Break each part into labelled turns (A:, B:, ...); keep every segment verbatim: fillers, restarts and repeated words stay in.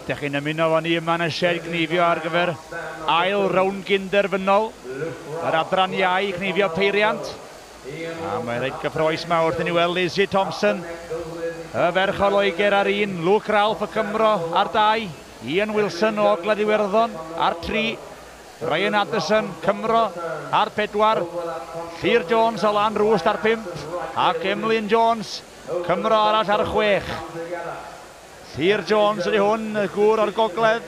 A: Ydych chi'n ymuno efo ni yma yn y sied gneifio ar gyfer ail rownd gynderfynol yr adran iau cneifio peiriant. A mae'n reit gyffrous yma wrth i ni weld Lizzie Thompson, y ferch o Loegr ar un, Luke Ralph y Cymro ar dau, Ian Wilson o Ogledd Iwerddon ar tri, Ryan Addison, Cymro ar pedwar, Llyr Jones o Lanrwst ar pump, ac Emlyn Jones, Cymro arall ar chwech. Llyr Jones ydy hwn, y gŵr o'r gogledd.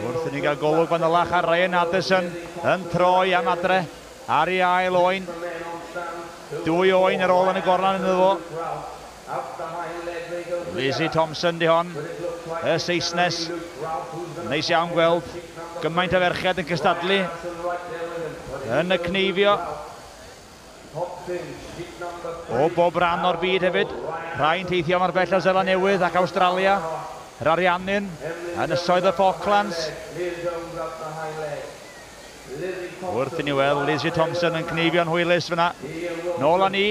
A: Wrth i ni gael golwg fanylach ar Ryan Addison yn troi am adre ar ei ail oen. Dwy oen ar ôl yn y gorlan ynddo fo. Lizzie Thompson di hon, y Saesnes. Neis iawn gweld gymaint o ferched yn cystadlu yn y cneifio. O bob rhan o'r byd hefyd. Rhai'n teithio mor bell o Seland Newydd ac Awstralia. Yr Ariannin, Ynysoedd y Falklands. Wrth i ni weld Lizzie Thompson yn cneifio'n hwylus fyna. Nôl â ni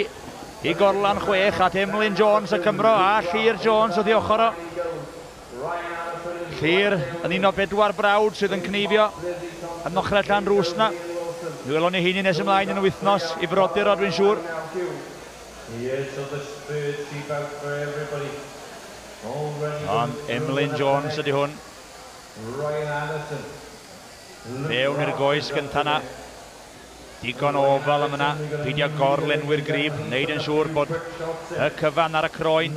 A: i gorlan chwech at Emlyn Jones y Cymro a Llyr Jones wrth ei ochr o. Llyr yn un o bedwar brawd sydd yn cneifio yn ochrau Llanrwst na. Mi welwn ni heini nes ymlaen yn y wythnos i frodyr o, dwi'n siŵr. Ond Emlyn Jones ydy hwn. Fewn i'r goes gynta na. Digon o ofal am yna, peidio gorlenwi'r grib, wneud yn siŵr bod y cyfan ar y croen.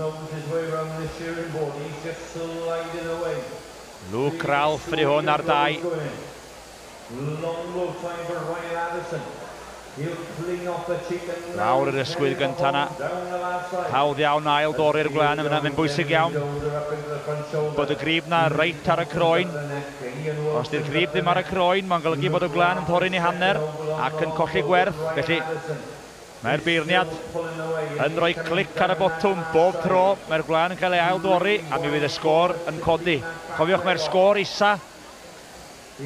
A: Luke Ralph ydy hwn ar dau. Lawr yr ysgwydd gynta na. Hawdd iawn ail dorri'r gwlân yma, mae'n bwysig iawn bod y grib na reit ar y croen. Os di'r grib ddim ar y croen, mae'n golygu bod y gwlân yn torri'n ei hanner ac yn colli gwerth. Felly mae'r beirniad yn rhoi clic ar y botwm bob tro. Mae'r gwlân yn cael ei ail dorri a mi fydd y sgôr yn codi. Cofiwch, mae'r sgôr isa,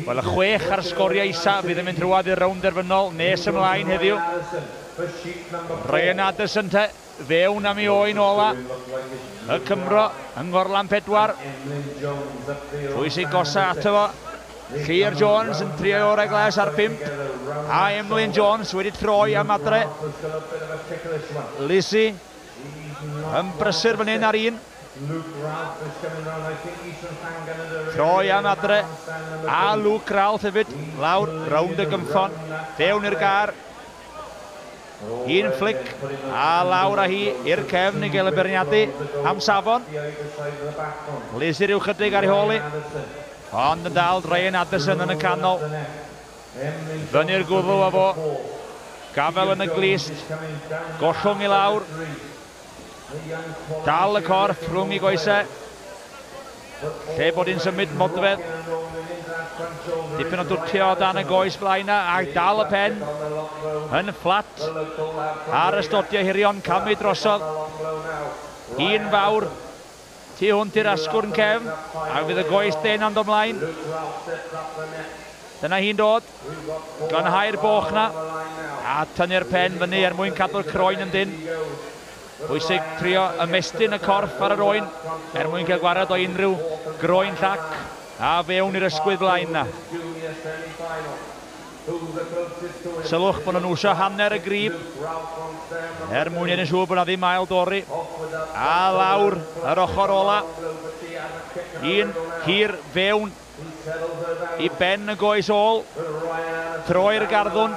A: wel, y chwech ar sgoriau isa fydd yn mynd trwadd i'r rownd derfynol nes ymlaen heddiw. Ryan Addison te, fewn am ei oen ola. Y Cymro yng Ngorlan pedwar. Pwy sy'n gosa ato fo? Llyr Jones yn trio orau glas ar pump. A Emlyn Jones wedi troi am adre. Lizzie yn brysur fan hyn ar un. Troi am adre. A Luke Ralph hefyd lawr rownd y gymffon. Fewn i'r gar. Un flic a lawr â hi i'r cefn i gael y beirniadu am safon. Lizzie rhyw chydig ar ei hôl hi. Ond yn dal Ryan Addison yn y canol. Fyny'r gwddw â fo. Gafel yn y glist. Gollwng i lawr. Dal y corff rhwng i goesau. Lle bod hi'n symud modfedd. Dipyn o dwtio o dan y goes blaen a dal y pen yn fflat ar y stodiau hirion, camu drosodd. Un fawr tu hwnt i'r asgwrn cefn a fydd y goes den am ymlaen. Dyna hi'n dod, glanhau'r boch na a tynnu'r pen fyny er mwyn cadw'r croen yn dynn. Bwysig trio ymestyn y corff ar yr oen er mwyn cael gwared o unrhyw groen llac a fewn i'r ysgwydd blaen na. Sylwch bod nhw'n wsio hanner y grib er mwyn yn siŵr bod na ddim ail dorri. A lawr yr ochr ola. Un hir fewn i ben y goes ôl. Troi'r garddwn.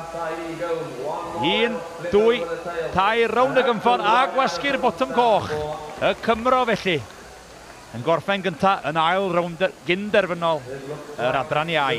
A: Un, dwy, tair rownd y gymffon a gwasgu'r botwm coch. Y Cymro felly yn gorffen gynta yn ail rownd gynderfynol yr adran iau.